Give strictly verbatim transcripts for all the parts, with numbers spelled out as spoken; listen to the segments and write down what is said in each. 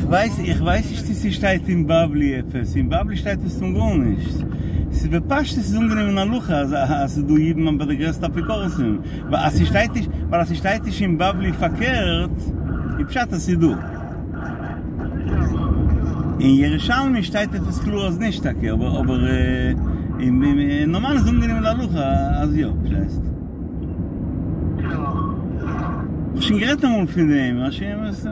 ווייס, איך ווייס נישט צו ס'שטייט אין בבלי עפעס, אין בבלי שטייט מסתם גארנישט. ס'איז בפשטות איז אנגענומען הלכה אז אז ס'איז דא אידן ביי די גרעסטע אפיקורסים. ווייל אז ס'שטייט נישט, ווייל אז ס'שטייט נישט אין בבלי פארקערט, איז פשט אז ס'איז דא. אין ירושלמי שטייט עפעס קלאר אז נישט טאקע, אבער אבער אין נארמאל איז אנגענומען להלכה אז יא, פארשטייסט? כ'האב שוין גערעדט אמאל פון דעם, אז שוין עס.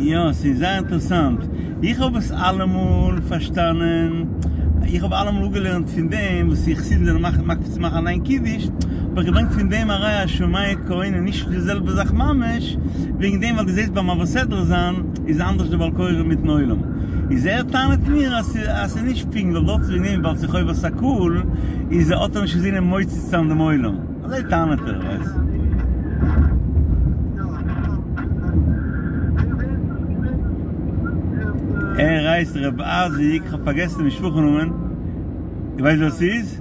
יא, ס'איז זייער אינטערעסאנט. איך האב עס אלעמאל פארשטאנען, איך האב אלעמאל אפגעלערנט פון דעם וואס די חסידים זענען מקפיד צו מאכן אליין קידוש, האב איך געברענגט פון דעם א ראיה אז שומע כעונה נישט די זעלבע זאך ממש, וועגן דעם ווייל דו זעסט ביים מעביר סדרה זיין איז אנדערש די בעל קורא מיטן עולם. איז ער טענה'ט מיר אז ס'איז נישט פונקט ווייל דארט איז וועגן דעם וויבאלד ס'איז חובת הקהל איז האט ער נישט אינזינען מוציא צו זיין דעם עולם. אזוי טענה'ט ער, ווייסט. ער הייסט ר' אייזיק, כ'האב פארגעסן די משפחה נאמען, דו ווייסט ווער ס'איז?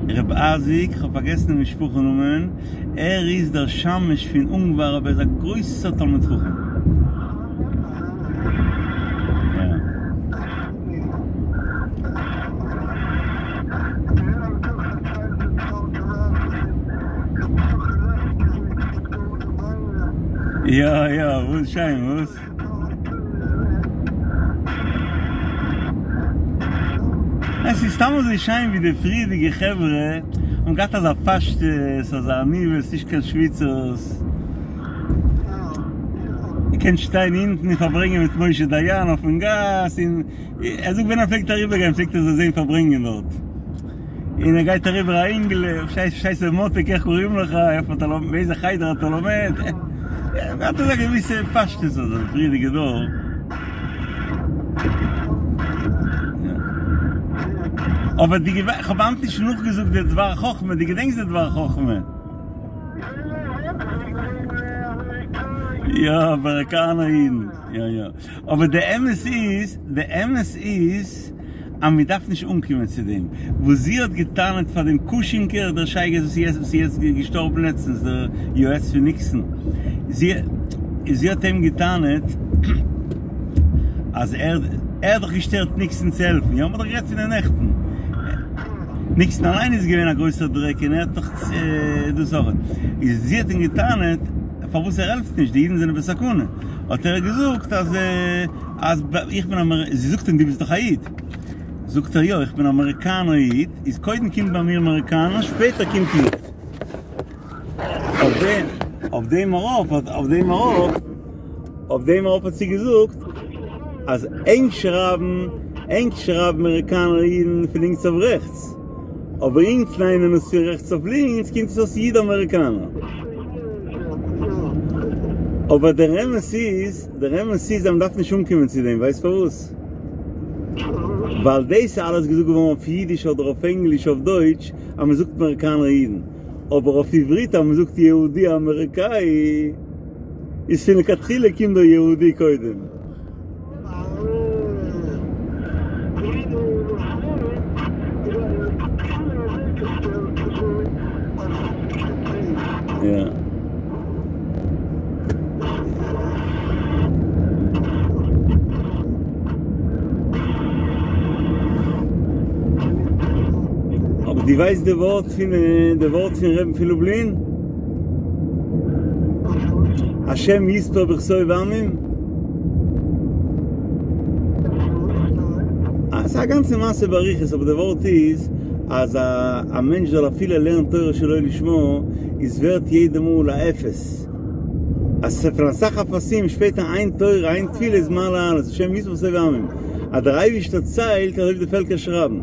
ר' אייזיק, כ'האב פארגעסן די משפחה נאמען, ער איז דער שמש פון אונגוואר אבער ער איז א גרויסער תלמיד חכם. יא יא, וואס שיין וואס? עס איז סתם אזוי שיין ווי די פריערדיגע חברה האבן געהאט אזא פשטות, אזא עניוות, נישט קיין שוויצערס. איר קענט שטיין אונטן און פארברענגען מיט משה דיין אויפן גאס, און ער זאגט ווען ער פלעגט אריבערגיין פלעגט ער זיי זען פארברענגען דארט. און ער גייט אריבער א אינגל, פארשטייסט ר' מאטעק איך קוראים לך, איפה אתה לומד, באיזה חדר אתה לומד, האט אזא געוויסע פשטות אזוי, פריערדיגע דור. אבער די געווע, כ'האב היינט נישט נאכגעזאגט די דבר חכמה, דו געדענקסט די דבר חכמה? יא, אמעריקאנער אידן, יא יא. אבער די אמת איז, די אמת איז אז מען דארף נישט אנקומען צו דעם. וואס זי האט געטענה'ט פאר דעם קושינקער, דער שייגעץ וואס איז יעצט געשטארבן לעצטנס, דער יועץ פון ניקסאן, זי זי האט אים געטענה'ט אז ער ער האט דאך געשטערט ניקסאן צו העלפן, יא? מען האט דאך גערעדט פון דעם נעכטן. ניקסאן אליין איז געווען א גרויסער דרעק און ער האט דאך דאס אויך. איז זי האט אים געטענה'ט פארוואס ער העלפט נישט, די אידן זענען בסכנה. האט ער געזאגט אז אז איך בין אמער, זי זאגט אים דו ביסט דאך א איד, זאגט ער יא איך בין אמעריקאנער איד, איז קודם קומט ביי מיר אמעריקאנער שפעטער קומט איד. אויף דעם אויף דעם ארויף אויף דעם ארויף אויף דעם ארויף האט זי געזאגט אז ענק שרייבן ענק שרייבן אמעריקאנער אידן פון לינקס אויף רעכטס, אבער אונז ליינען עס פון רעכטס אויף לינקס קומט עס אויס איד אמעריקאנער. אבער דער אמת איז, דער אמת איז אז מען דארף נישט אנקומען צו דעם, ווייסט פארוואס? ווייל דאס איז אלעס געזאגט געווארן אויף אידיש אדער אויף ענגליש אויף דויטש אז מען זאגט אמעריקאנער אידן, אבער אויף עברית אז מען זאגט יהודי אמעריקאי איז פון לכתחילה קומט דער יהודי קודם. יא. אבער דו ווייסט די ווארט פון די ווארט פון רבי'ן פון לובלין? השם יספר בכתוב עמים? ס'איז א גאנצע מעשה באריכות אבער די ווארט איז אז א מענטש זאל אפילו לערנען תורה שלא לשמה איז ווערט יעדע מאל א אפס אז פון אסאך אפסים שפעטער איין תורה איין תפילה איז מעלה אלעס השם יספר בכתוב עמים אז דער אייבישטער ציילט אזוי ווי די פעלקער שרייבן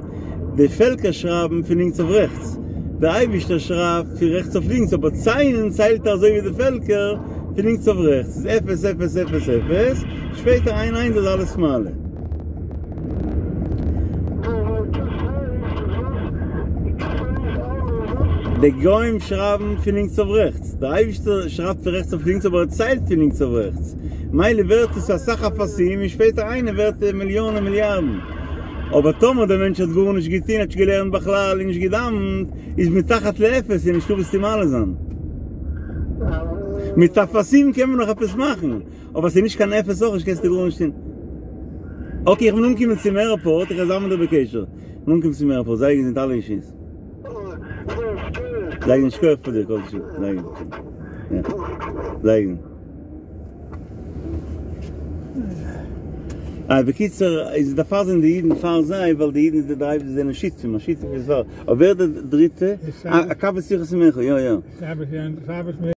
די פעלקער שרייבן פון לינקס אויף רעכטס דער אייבישטער שרייבט פון רעכטס אויף לינקס אבער ציילן ציילט ער אזוי ווי די פעלקער פון לינקס אויף רעכטס איז אפס אפס אפס אפס, שפעטער איין איינס איז אלעס מעלה. די גוים שרייבן פון לינקס אויף רעכטס, דער אייבישטער שרייבט פון רעכטס אויף לינקס אבער ער ציילט פון לינקס אויף רעכטס, מילא ווערט עס אסאך אפסים און שפעטער איינער ווערט מיליאנען מיליארדן. אבער טאמער דער מענטש האט גארנישט געטון, האט נישט געלערנט בכלל און נישט געדאווענט, איז מתחת לאפס איז נישטא וואס צו מעלה זיין. מיט אפסים קען מען נאך עפעס מאכן, אבער ס'איז נישט קיין אפס אויך נישט קענסטו גארנישט טון. okay, איך בין אנגעקומען צום airport, איך וועל זיין מיט דיר בקשר. איך בין אנגעקומען צום airport, זיי געזונט אלע אישי'ס. זיי געזונט, שכוח פאר דיר, כל טוב, זיי געזונט. יא. זיי געזונט. אה, בקיצור, איז דערפאר זענען די אידן פאר זיי, ווייל די אידן איז די דריי וואס זענען שותפים, א שותף איז פאר, אבער ווער די דריטע? אה, הקב ה שיחות ממך, יא יא. שבת, שבת